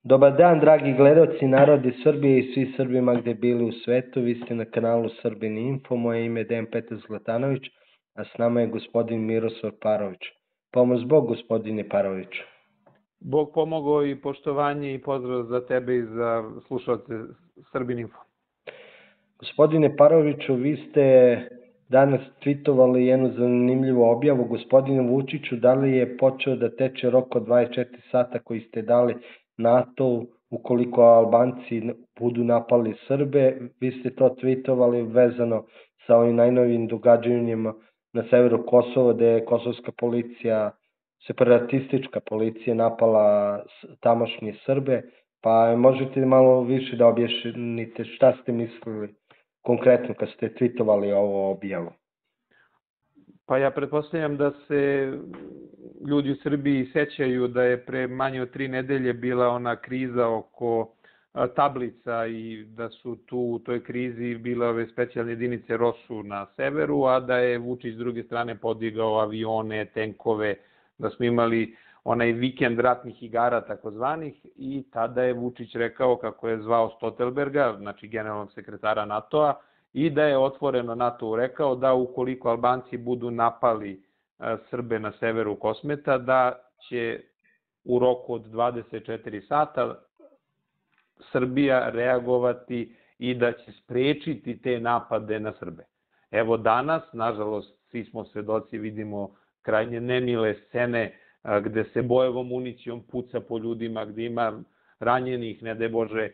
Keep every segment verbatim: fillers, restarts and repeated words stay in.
Dobar dan, dragi gledaoci, narodi Srbije i svi Srbima gde bili u svetu. Vi ste na kanalu Srbin Info. Moje ime je Dejan Petar Zlatanović, a s nama je gospodin Miroslav Parović. Pomoz Bog, gospodine Paroviću. Bog pomogao i poštovanje i pozdrav za tebe i za slušalce Srbin Info. Gospodine Paroviću, vi ste danas tweetovali jednu zanimljivu objavu. Gospodine Vučiću, da li je počeo da teče rok od dvadeset četiri sata koji ste dali NATO-u ukoliko Albanci budu napali Srbe? Vi ste to tweetovali vezano sa ovim najnovim događanjima na severu Kosova, gde je kosovska policija, separatistička policija napala tamošnje Srbe. Pa možete malo više da objašnite šta ste mislili konkretno kad ste tweetovali ovo objavu? Pa ja pretpostavljam da se ljudi u Srbiji sećaju da je pre manje od tri nedelje bila ona kriza oko tablica i da su tu u toj krizi bile ove specijalne jedinice ROSU na severu, a da je Vučić s druge strane podigao avione, tenkove, da smo imali onaj vikend ratnih igara takozvanih, i tada je Vučić rekao kako je zvao Stoltenberga, znači generalnog sekretara NATO-a, i da je otvoreno NATO rekao da ukoliko Albanci budu napali Srbe na severu Kosmeta, da će u roku od dvadeset četiri sata Srbija reagovati i da će sprečiti te napade na Srbe. Evo danas, nažalost, svi smo svedoci, vidimo krajnje nemile scene gde se bojevom municijom puca po ljudima, gde ima ranjenih, ne daj Bože.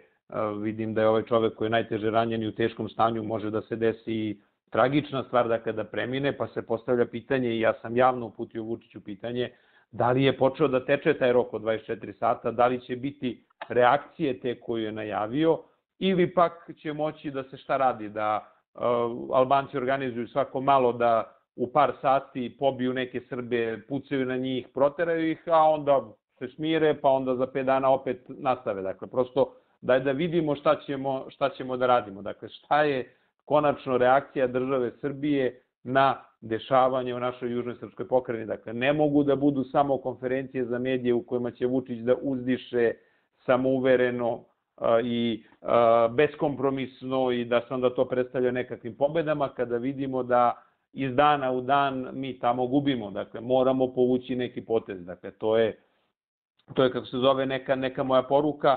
Vidim da je ovaj čovek koji je najteže ranjen i u teškom stanju, može da se desi tragična stvar da kada premine, pa se postavlja pitanje, i ja sam javno uputio Vučiću pitanje, da li je počeo da teče taj rok od dvadeset četiri sata, da li će biti reakcije te koju je najavio, ili pak će moći da se šta radi, da Albanci organizuju svako malo da u par sati pobiju neke Srbe, pucaju na njih, proteraju ih, a onda se smire, pa onda za pet dana opet nastave. Dakle, prosto daj da vidimo šta ćemo, šta ćemo da radimo. Dakle, šta je konačno reakcija države Srbije na dešavanje u našoj južnoj srpskoj pokrajini. Dakle, ne mogu da budu samo konferencije za medije u kojima će Vučić da uzdiše samouvereno i beskompromisno i da se onda to predstavlja nekakvim pobedama, kada vidimo da iz dana u dan mi tamo gubimo. Dakle, moramo povući neki potez. Dakle, to je, to je kako se zove, neka, neka moja poruka,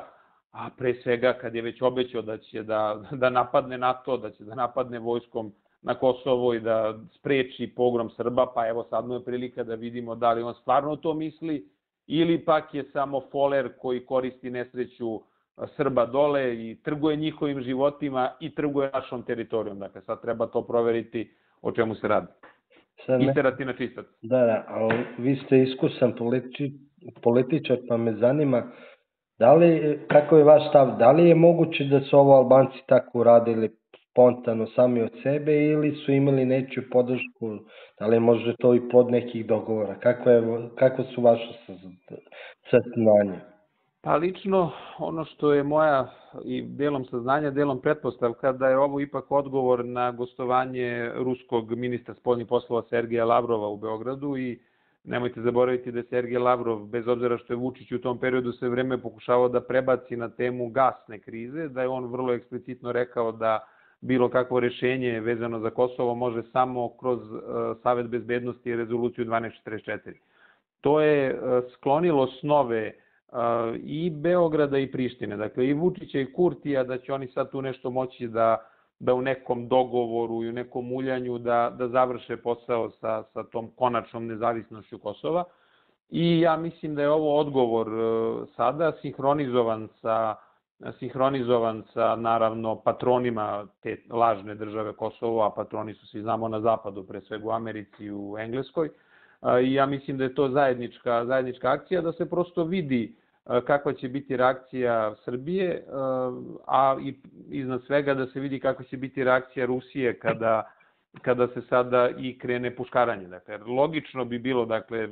a pre svega kad je već obećao da će da, da napadne NATO, da će da napadne vojskom na Kosovo i da spreči pogrom Srba, pa evo sad mu je prilika da vidimo da li on stvarno to misli ili pak je samo foler koji koristi nesreću Srba dole i trguje njihovim životima i trguje našom teritorijom. Dakle, sad treba to proveriti o čemu se radi. Isterati na čistac. Da, da, ali vi ste iskusan politi, političar, pa me zanima, da li, kako je vaš stav, da li je moguće da su ovo Albanci tako uradili spontano sami od sebe ili su imali nečiju podršku, da li je možda to i plod nekih dogovora? Kako, je, kako su vaše saznanje? Pa lično, ono što je moja i delom saznanja, delom pretpostavka, da je ovo ipak odgovor na gostovanje ruskog ministra spoljnih poslova Sergeja Lavrova u Beogradu, i nemojte zaboraviti da je Sergej Lavrov, bez obzira što je Vučić u tom periodu sve vreme pokušavao da prebaci na temu gasne krize, da je on vrlo eksplicitno rekao da bilo kakvo rešenje vezano za Kosovo može samo kroz Savet bezbednosti i rezoluciju dvanaest četrdeset četiri. To je sklonilo snove i Beograda i Prištine, dakle i Vučića i Kurtija, da će oni sad tu nešto moći da, da u nekom dogovoru i u nekom muljanju da, da završe posao sa, sa tom konačnom nezavisnošću Kosova. I ja mislim da je ovo odgovor sada sinhronizovan sa, sinhronizovan sa naravno patronima te lažne države Kosovo, a patroni su, svi znamo, na zapadu, pre svega u Americi i u Engleskoj. I ja mislim da je to zajednička, zajednička akcija, da se prosto vidi kakva će biti reakcija Srbije, a i iznad svega da se vidi kakva će biti reakcija Rusije kada, kada se sada i krene puškaranje. Dakle, logično bi bilo, dakle,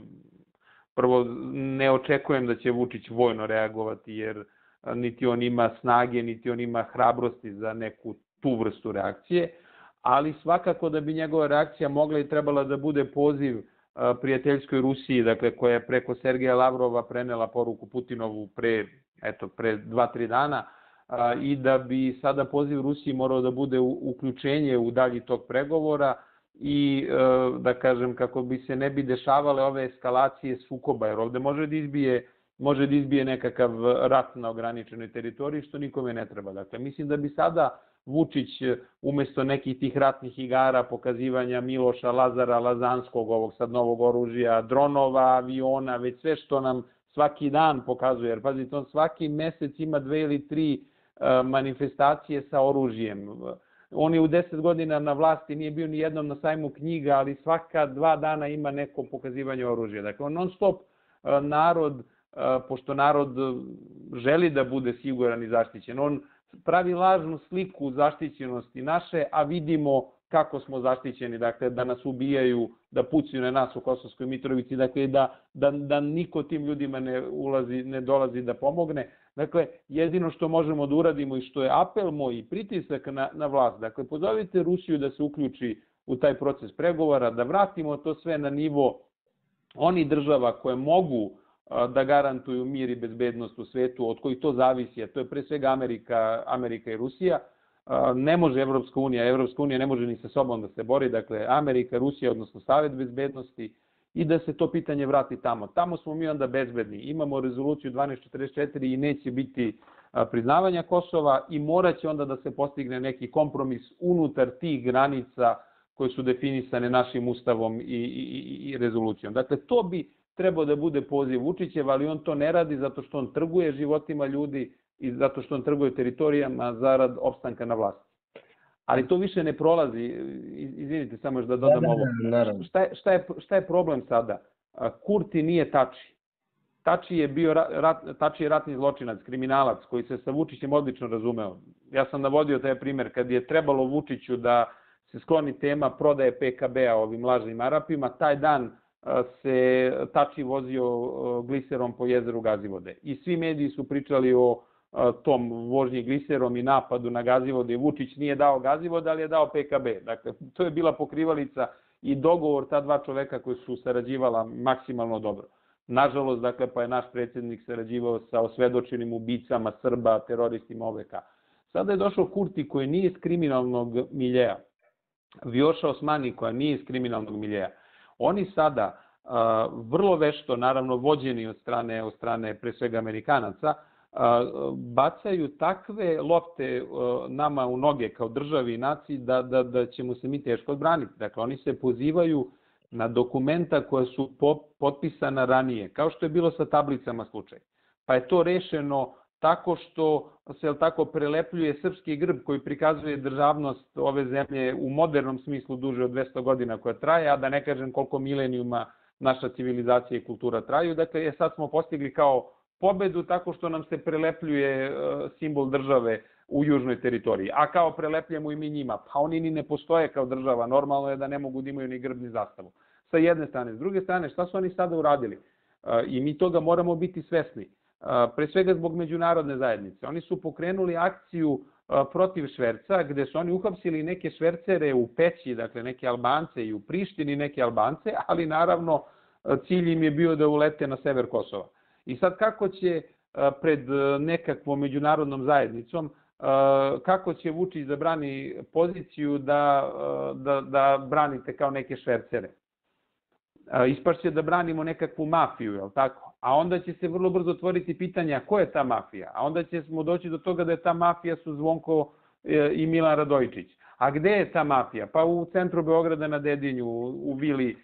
prvo ne očekujem da će Vučić vojno reagovati, jer niti on ima snage, niti on ima hrabrosti za neku tu vrstu reakcije, ali svakako da bi njegova reakcija mogla i trebala da bude poziv prijateljskoj Rusiji, dakle, koja je preko Sergeja Lavrova prenela poruku Putinovu pre, eto, pre dva, tri dana, i da bi sada poziv Rusiji morao da bude uključenje u dalji tog pregovora i, da kažem, kako bi se ne bi dešavale ove eskalacije sukoba, jer ovde može da izbije, može da izbije nekakav rat na ograničenoj teritoriji, što nikome ne treba. Dakle, mislim da bi sada Vučić umesto nekih tih ratnih igara, pokazivanja Miloša, Lazara, Lazanskog, ovog sad novog oružja, dronova, aviona, već sve što nam svaki dan pokazuje, jer pazite, on svaki mesec ima dve ili tri manifestacije sa oružjem. On je u deset godina na vlasti, nije bio ni jednom na sajmu knjiga, ali svaka dva dana ima neko pokazivanje oružja. Dakle, on non stop narod, pošto narod želi da bude siguran i zaštićen, on pravi lažnu sliku zaštićenosti naše, a vidimo kako smo zaštićeni, dakle, da nas ubijaju, da pucaju na nas u Kosovskoj Mitrovici, dakle, da, da, da niko tim ljudima ne ulazi, ne dolazi da pomogne. Dakle, jedino što možemo da uradimo i što je apel moj i pritisak na, na vlast, dakle, pozovite Rusiju da se uključi u taj proces pregovora, da vratimo to sve na nivo onih država koje mogu da garantuju mir i bezbednost u svetu, od kojih to zavisi, a to je pre svega Amerika, Amerika i Rusija. Ne može Evropska unija, Evropska unija ne može ni sa sobom da se bori, dakle Amerika, Rusija, odnosno Savet bezbednosti, i da se to pitanje vrati tamo. Tamo smo mi onda bezbedni. Imamo rezoluciju dvanaest četrdeset četiri i neće biti priznavanja Kosova i moraće onda da se postigne neki kompromis unutar tih granica koje su definisane našim ustavom i, i, i rezolucijom. Dakle, to bi trebao da bude poziv Vučićev, ali on to ne radi zato što on trguje životima ljudi i zato što on trguje teritorijama zarad opstanka na vlasti. Ali to više ne prolazi. Izvinite, samo još da dodam ovo. Šta je, šta je, šta je problem sada? Kurti nije Tači. Tači je bio rat, Tači je ratni zločinac, kriminalac koji se sa Vučićem odlično razumeo. Ja sam navodio taj primer kad je trebalo Vučiću da se skloni tema prodaje P K B-a ovim lažnim Arapima, taj dan se Tači vozio gliserom po jezeru Gazivode. I svi mediji su pričali o tom vožnji gliserom i napadu na Gazivode. Vučić nije dao Gazivode, ali je dao P K B. Dakle, to je bila pokrivalica i dogovor ta dva čoveka koji su sarađivala maksimalno dobro. Nažalost, dakle, pa je naš predsjednik sarađivao sa osvedočenim ubicama Srba, teroristima O V K. Sada je došao Kurti koji nije iz kriminalnog miljeja. Vjoša Osmani koja nije iz kriminalnog miljeja. Oni sada vrlo vešto, naravno vođeni od strane, od strane pre svega Amerikanaca, bacaju takve lopte nama u noge kao državi i naciji da, da, da ćemo se mi teško odbraniti. Dakle, oni se pozivaju na dokumenta koja su potpisana ranije, kao što je bilo sa tablicama slučaj. Pa je to rešeno tako što se tako prelepljuje srpski grb koji prikazuje državnost ove zemlje u modernom smislu duže od dvesta godina koja traje, a da ne kažem koliko milenijuma naša civilizacija i kultura traju. Dakle, sad smo postigli kao pobedu tako što nam se prelepljuje simbol države u južnoj teritoriji, a kao prelepljamo i mi njima. Pa oni ni ne postoje kao država, normalno je da ne mogu da imaju ni grb ni zastavu. Sa jedne strane. S druge strane, šta su oni sada uradili? I mi toga moramo biti svesni. Pre svega zbog međunarodne zajednice. Oni su pokrenuli akciju protiv šverca, gde su oni uhapsili neke švercere u Peći, dakle neke Albance i u Prištini neke Albance, ali naravno cilj im je bio da ulete na sever Kosova. I sad kako će pred nekakvom međunarodnom zajednicom, kako će Vučić da brani poziciju da, da, da branite kao neke švercere? Ispašće da branimo nekakvu mafiju, je li tako? A onda će se vrlo brzo otvoriti pitanja ko je ta mafija. A onda ćemo doći do toga da je ta mafija su Zvonko i Milan Radojičić. A gde je ta mafija? Pa u centru Beograda na Dedinju, u vili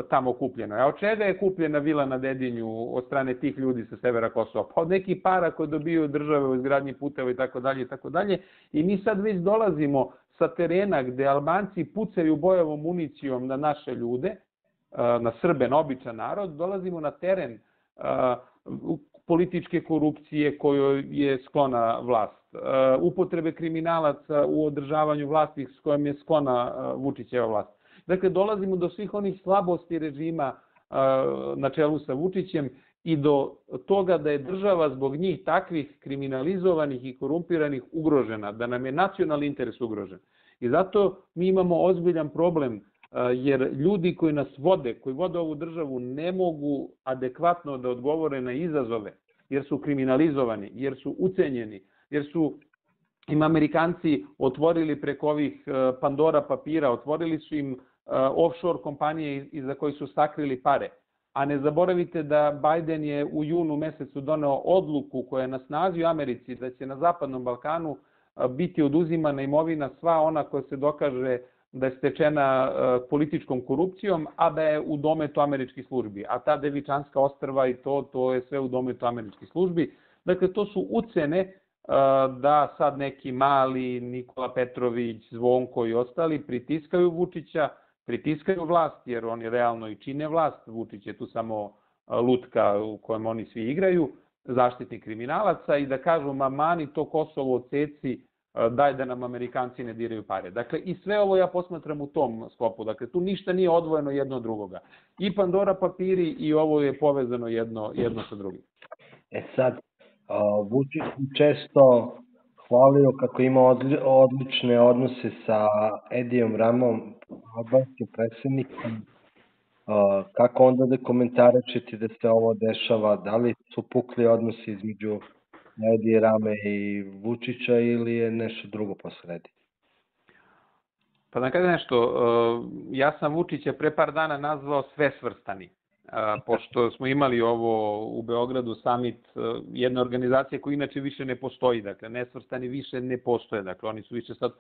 tamo kupljeno. A od čega je kupljena vila na Dedinju od strane tih ljudi sa severa Kosova? Pa od nekih para koje dobiju države u izgradnji puteva i tako dalje i tako dalje. I mi sad već dolazimo sa terena gde Albanci pucaju bojevom municijom na naše ljude, na Srbe, na običan narod, dolazimo na teren političke korupcije kojoj je sklona vlast, upotrebe kriminalaca u održavanju vlasti s kojom je sklona Vučićeva vlast. Dakle, dolazimo do svih onih slabosti režima na čelu sa Vučićem i do toga da je država zbog njih takvih kriminalizovanih i korumpiranih ugrožena, da nam je nacionalni interes ugrožen. I zato mi imamo ozbiljan problem jer ljudi koji nas vode, koji vode ovu državu, ne mogu adekvatno da odgovore na izazove, jer su kriminalizovani, jer su ucenjeni, jer su im Amerikanci otvorili preko ovih Pandora papira, otvorili su im offshore kompanije iza koji su sakrili pare. A ne zaboravite da Biden je u junu mesecu doneo odluku koja je na snazi u Americi da će na Zapadnom Balkanu biti oduzimana imovina sva ona koja se dokaže da je stečena političkom korupcijom, a da je u dometu američkih službi. A ta Devičanska ostrva i to, to je sve u dometu američkih službi. Dakle, to su ucene da sad neki mali Nikola Petrović, Zvonko i ostali pritiskaju Vučića, pritiskaju vlast, jer oni realno i čine vlast. Vučić je tu samo lutka u kojem oni svi igraju, zaštitnik kriminalaca, i da kažu, ma mani to Kosovo odseci, daj da nam Amerikanci ne diraju pare. Dakle, i sve ovo ja posmatram u tom sklopu. Dakle, tu ništa nije odvojeno jedno od drugoga. I Pandora papiri i ovo je povezano jedno, jedno sa drugim. E sad, Vučić često hvalio kako ima odlične odnose sa Edijom Ramom, albanskim predsjednikom. Kako onda da komentarišete da se ovo dešava? Da li su pukli odnosi između Edije Rame i Vučića ili je nešto drugo posredi? Pa da kažem nešto, ja sam Vučića pre par dana nazvao svesvrstani. Pošto smo imali ovo u Beogradu summit jedne organizacije koja inače više ne postoji, dakle nesvrstani više ne postoje, dakle oni su više sad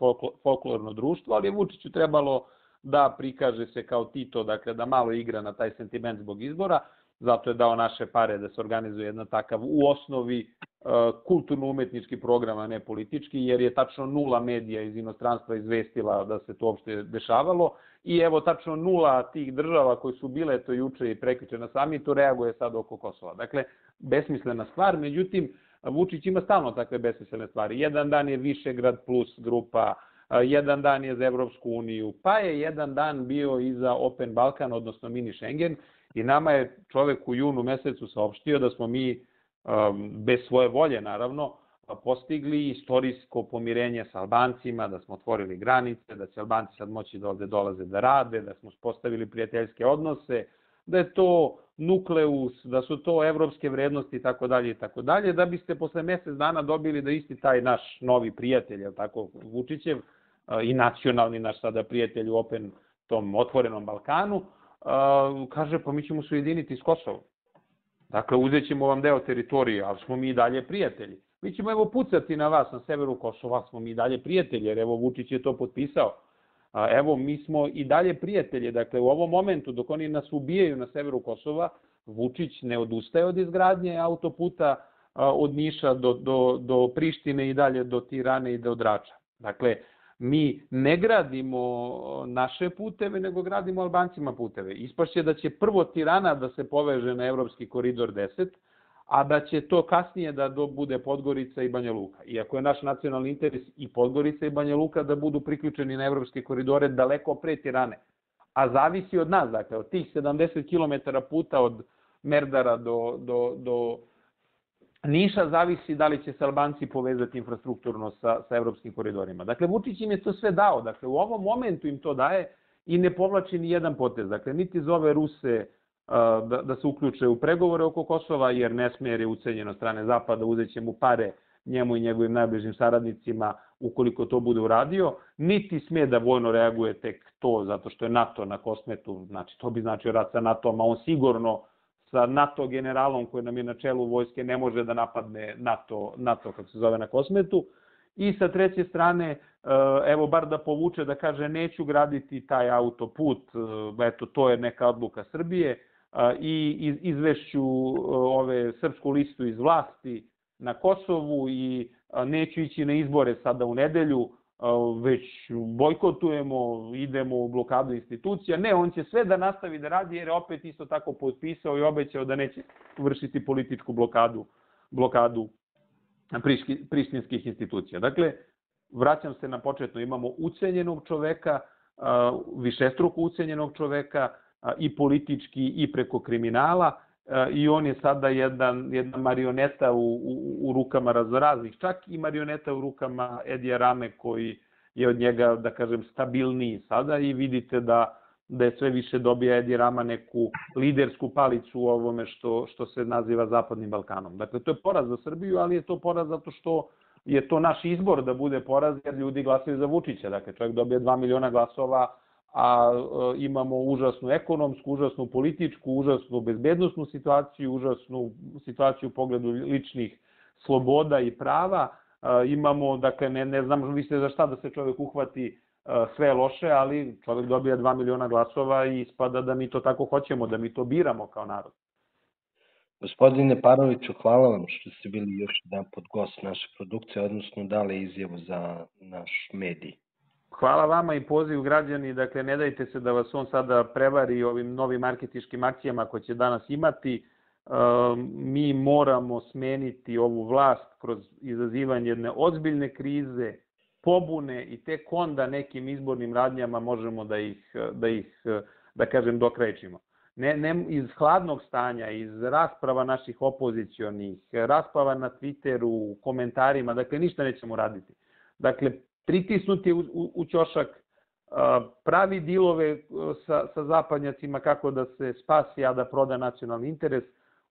folklorno društvo, ali je Vučiću trebalo da prikaže se kao Tito, dakle da malo igra na taj sentiment zbog izbora, zato je dao naše pare da se organizuje jedna takav u osnovi kulturno-umetnički program, a ne politički, jer je tačno nula medija iz inostranstva izvestila da se to uopšte dešavalo i evo tačno nula tih država koji su bile to juče i prekjuče na samitu reaguje sad oko Kosova. Dakle, besmislena stvar, međutim, Vučić ima stalno takve besmislene stvari. Jedan dan je Višegrad plus grupa, jedan dan je za Evropsku uniju, pa je jedan dan bio i za Open Balkan, odnosno mini Schengen, i nama je čovek u junu mesecu saopštio da smo mi, bez svoje volje naravno, postigli istorijsko pomirenje sa Albancima, da smo otvorili granice, da će Albanci sad moći da ovde dolaze da rade, da smo postavili prijateljske odnose, da je to nukleus, da su to evropske vrednosti i tako dalje i tako dalje, da biste posle mesec dana dobili da isti taj naš novi prijatelj, je tako, Vučićev, i nacionalni naš sada prijatelj u Open, tom otvorenom Balkanu, kaže, pa mi ćemo se ujediniti s Kosovom. Dakle, uzet ćemo vam deo teritorije, ali smo mi i dalje prijatelji. Mi ćemo evo pucati na vas na severu Kosova, smo mi i dalje prijatelji, jer evo Vučić je to potpisao. Evo, mi smo i dalje prijatelji. Dakle, u ovom momentu, dok oni nas ubijaju na severu Kosova, Vučić ne odustaje od izgradnje autoputa od Niša do, do, do Prištine i dalje do Tirane i do Drača. Dakle, mi ne gradimo naše puteve, nego gradimo Albancima puteve. Ispašće da će prvo Tirana da se poveže na Evropski koridor deset, a da će to kasnije da bude Podgorica i Banja Luka. Iako je naš nacionalni interes i Podgorica i Banja Luka da budu priključeni na evropske koridore daleko pre Tirane. A zavisi od nas, dakle, od tih sedamdeset kilometara puta od Merdara do, do, do Niša zavisi da li će se Albanci povezati infrastrukturno sa, sa evropskim koridorima. Dakle, Vučić im je to sve dao. Dakle, u ovom momentu im to daje i ne povlači ni jedan potez. Dakle, niti zove Ruse da, da se uključe u pregovore oko Kosova, jer ne smije, jer je ucenjen od strane Zapada, uzet će mu pare njemu i njegovim najbližim saradnicima ukoliko to bude uradio, niti smije da vojno reaguje tek to, zato što je NATO na Kosmetu, znači to bi značio rat sa NATO-om, a on sigurno sa NATO generalom koji nam je na čelu vojske ne može da napadne NATO, NATO kako se zove na Kosmetu. I sa treće strane, evo bar da povuče, da kaže neću graditi taj autoput, eto to je neka odluka Srbije, i izvešću ove srpsku listu iz vlasti na Kosovu i neću ići na izbore sada u nedelju, već bojkotujemo, idemo u blokadu institucija. Ne, on će sve da nastavi da radi jer je opet isto tako potpisao i obećao da neće vršiti političku blokadu, blokadu prištinskih institucija. Dakle, vraćam se na početno, imamo ucenjenog čoveka, višestruko ucenjenog čoveka, i politički i preko kriminala, i on je sada jedan, jedna marioneta u, u, u rukama raznoraznih, čak i marioneta u rukama Edija Rame koji je od njega, da kažem, stabilniji sada, i vidite da da sve više dobija Edi Rama neku lidersku palicu u ovome što, što se naziva Zapadnim Balkanom. Dakle, to je poraz za Srbiju, ali je to poraz zato što je to naš izbor da bude poraz, jer ljudi glasaju za Vučića. Dakle, čovjek dobije dva miliona glasova, a e, imamo užasnu ekonomsku, užasnu političku, užasnu bezbednosnu situaciju, užasnu situaciju u pogledu ličnih sloboda i prava. E, imamo, dakle, ne, ne znam više za šta da se čovjek uhvati, sve loše, ali čovjek dobija dva miliona glasova i ispada da mi to tako hoćemo, da mi to biramo kao narod. Gospodine Paroviću, hvala vam što ste bili još jedan pod gost naše produkcije, odnosno dali izjavu za naš medij. Hvala vama i poziv građani, dakle ne dajte se da vas on sada prevari ovim novim marketinškim akcijama koje će danas imati. Mi moramo smeniti ovu vlast kroz izazivanje jedne ozbiljne krize, pobune i tek onda nekim izbornim radnjama možemo da ih, da ih da kažem, dokrajčimo. Ne, ne iz hladnog stanja, iz rasprava naših opozicionih, rasprava na Twitteru, komentarima, dakle ništa nećemo raditi. Dakle, pritisnuti u, u, u ćošak, pravi dilove sa, sa zapadnjacima kako da se spasi, a da proda nacionalni interes,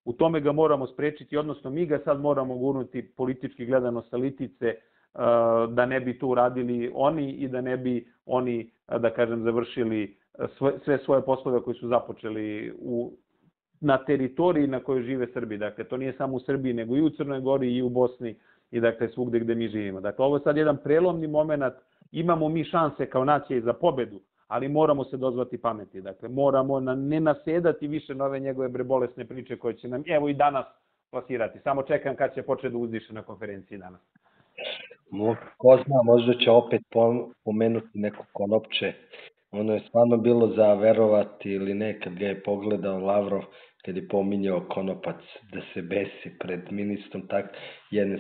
u tome ga moramo sprečiti, odnosno mi ga sad moramo gurnuti politički gledano sa litice, da ne bi to uradili oni i da ne bi oni, da kažem, završili sve svoje poslove koji su započeli u, na teritoriji na kojoj žive Srbi. Dakle, to nije samo u Srbiji, nego i u Crnoj Gori i u Bosni i dakle svugde gde mi živimo. Dakle, ovo je sad jedan prelomni moment, imamo mi šanse kao nacija i za pobedu, ali moramo se dozvati pameti. Dakle, moramo na, ne nasedati više na ove njegove brebolesne priče koje će nam, evo i danas, plasirati. Samo čekam kad će početi da uzdiše na konferenciji danas. Ko zna, možda će opet pomenuti neko konopče. Ono je stvarno bilo za verovati ili ne, kad ga je pogledao Lavrov, kad je pominjao konopac da se besi pred ministrom tak jedne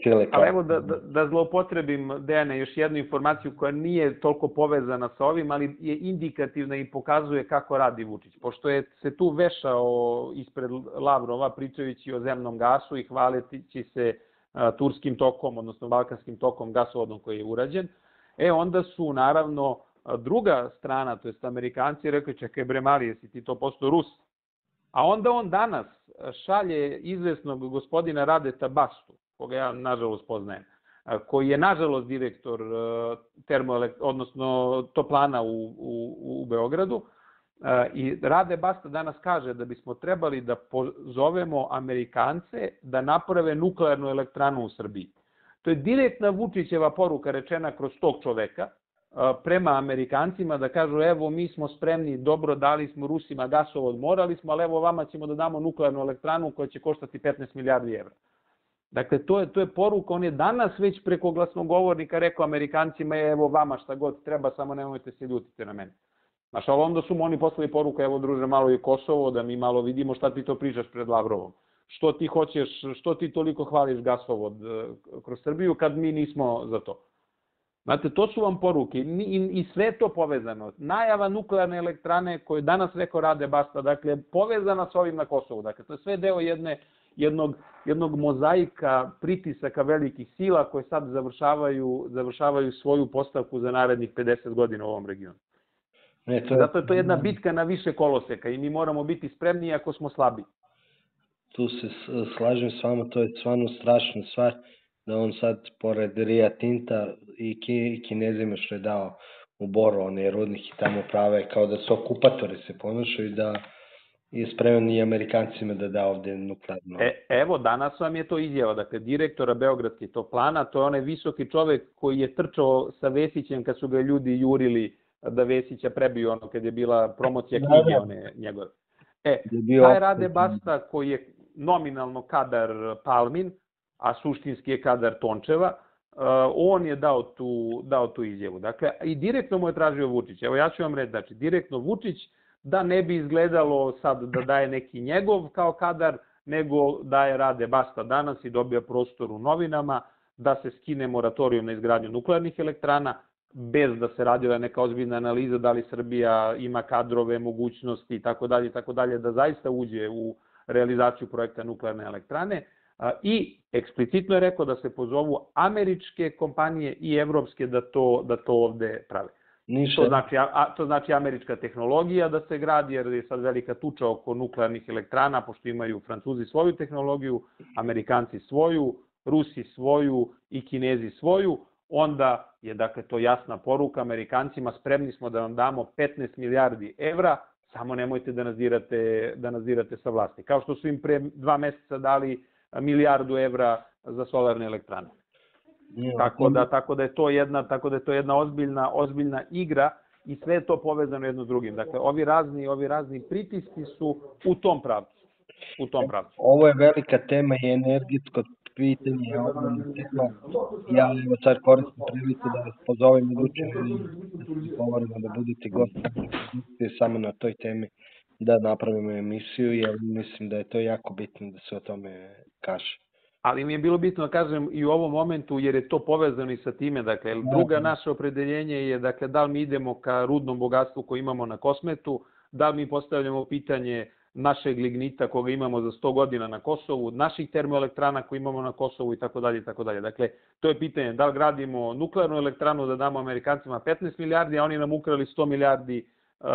sile. Ali evo da, da, da zloupotrebim, Dejane, još jednu informaciju koja nije toliko povezana sa ovim, ali je indikativna i pokazuje kako radi Vučić. Pošto je se tu vešao ispred Lavrova pričajući o zemnom gasu i hvaleći se a, turskim tokom, odnosno balkanskim tokom gasovodom koji je urađen, e onda su naravno druga strana, to jest Amerikanci, rekli čekaj bre mali, jesi ti to postao Rus? A onda on danas šalje izvesnog gospodina Radeta Bastu, koga ja nažalost poznajem, koji je nažalost direktor termoelekt, odnosno toplana u, u, u Beogradu. I Rade Basta danas kaže da bismo trebali da pozovemo Amerikance da naprave nuklearnu elektranu u Srbiji. To je direktna Vučićeva poruka rečena kroz tog čoveka prema Amerikancima, da kažu evo mi smo spremni, dobro dali smo Rusima gasovod, morali smo, ali evo vama ćemo da damo nuklearnu elektranu koja će koštati petnaest milijardi evra. Dakle, to je, to je poruka, on je danas već preko glasnogovornika rekao Amerikancima evo vama šta god treba, samo nemojte se ljutiti na mene. Znaš, ali onda su mu oni poslali poruku, evo druže malo i Kosovo, da mi malo vidimo šta ti to pričaš pred Lavrovom. Što ti hoćeš, što ti toliko hvališ gasovod kroz Srbiju kad mi nismo za to. Znate, to su vam poruke i, i sve to povezano. Najava nuklearne elektrane koju danas rekao Rade Basta, dakle, povezana s ovim na Kosovu. Dakle, to je sve deo jedne, jednog, jednog mozaika pritisaka velikih sila koje sad završavaju, završavaju svoju postavku za narednih pedeset godina u ovom regionu. Ne, to je... Zato je to jedna bitka na više koloseka i mi moramo biti spremni ako smo slabi. Tu se slažem s vama, to je stvarno strašna stvar. Da on sad, pored Ria Tinta i Kinezima što je dao u Boru, one rudnih i tamo prave, kao da su okupatori se ponašaju i da je spreman i Amerikancima da da ovde nuklearno. E, evo, danas vam je to izjava, dakle, direktora Beogradske toplana, to je onaj visoki čovek koji je trčao sa Vesićem kad su ga ljudi jurili da Vesića prebiju ono kad je bila promocija knjige one njegove. E, taj Rade Basta koji je nominalno kadar Palmin, a suštinski je kadar Tončeva, on je dao tu, dao tu izjavu. Dakle, i direktno mu je tražio Vučić. Evo ja ću vam reći, znači, direktno Vučić, da ne bi izgledalo sad da daje neki njegov kao kadar, nego daje Rade Basta danas i dobija prostor u novinama, da se skine moratorijum na izgradnju nuklearnih elektrana, bez da se radila neka ozbiljna analiza da li Srbija ima kadrove, mogućnosti i tako dalje, tako dalje, da zaista uđe u realizaciju projekta nuklearne elektrane. I eksplicitno je rekao da se pozovu američke kompanije i evropske da to, da to ovde prave. Niša. To znači, a, to znači američka tehnologija da se gradi, jer je sad velika tuča oko nuklearnih elektrana, pošto imaju Francuzi svoju tehnologiju, Amerikanci svoju, Rusi svoju i Kinezi svoju, onda je dakle to jasna poruka Amerikancima, spremni smo da vam damo petnaest milijardi evra, samo nemojte da nas dirate, da nas dirate sa vlasti. Kao što su im pre dva meseca dali milijardu evra za solarne elektrane. Ja, tako da tako da je to jedna tako da je to jedna ozbiljna ozbiljna igra i sve je to povezano jedno s drugim. Dakle, ovi razni ovi razni pritisci su u tom pravcu. U tom pravcu. Ovo je velika tema i energetsko pitanje je ogromna tema. Ja evo sad koristim priliku da vas pozovem iduće da govorimo da budete gosti samo na toj temi da napravimo emisiju, jer mislim da je to jako bitno da se o tome kaže. Ali mi je bilo bitno da kažem i u ovom momentu, jer je to povezano i sa time, dakle, druga naše opredeljenje je, dakle, da li mi idemo ka rudnom bogatstvu koje imamo na Kosmetu, da li mi postavljamo pitanje našeg lignita koga imamo za sto godina na Kosovu, naših termoelektrana koje imamo na Kosovu i tako dalje i tako dalje. Dakle, to je pitanje da li gradimo nuklearnu elektranu da damo Amerikancima petnaest milijardi, a oni nam ukrali sto milijardi uh,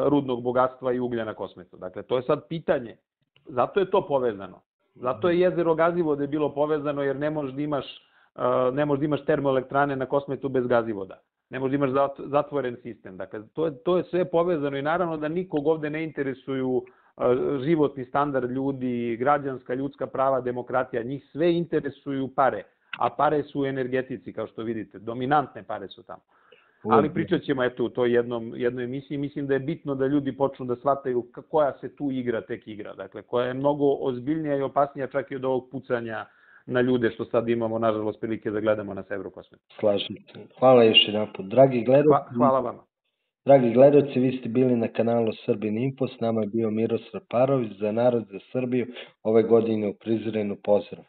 rudnog bogatstva i uglja na Kosmetu. Dakle, to je sad pitanje. Zato je to povezano. Zato je jezero Gazivode bilo povezano, jer ne možeš da imaš, uh, ne možeš da imaš termoelektrane na Kosmetu bez Gazivoda. Ne možeš da imaš zatvoren sistem. Dakle, to je, to je sve povezano i naravno da nikog ovde ne interesuju životni standard ljudi, građanska, ljudska prava, demokratija, njih sve interesuju pare, a pare su u energetici, kao što vidite, dominantne pare su tamo. Ali pričat ćemo eto u toj jednom, jednoj emisiji, mislim da je bitno da ljudi počnu da shvataju koja se tu igra tek igra, dakle, koja je mnogo ozbiljnija i opasnija čak i od ovog pucanja na ljude što sad imamo, nažalost, prilike da gledamo na Severu Kosmetu. Slažem se. Hvala još jedan put. Dragi gledalci, hvala vama. Dragi gledalci, vi ste bili na kanalu Srbin Info, s nama je bio Miroslav Parović za Narod za Srbiju, ove godine u Prizrenu. Pozdrav!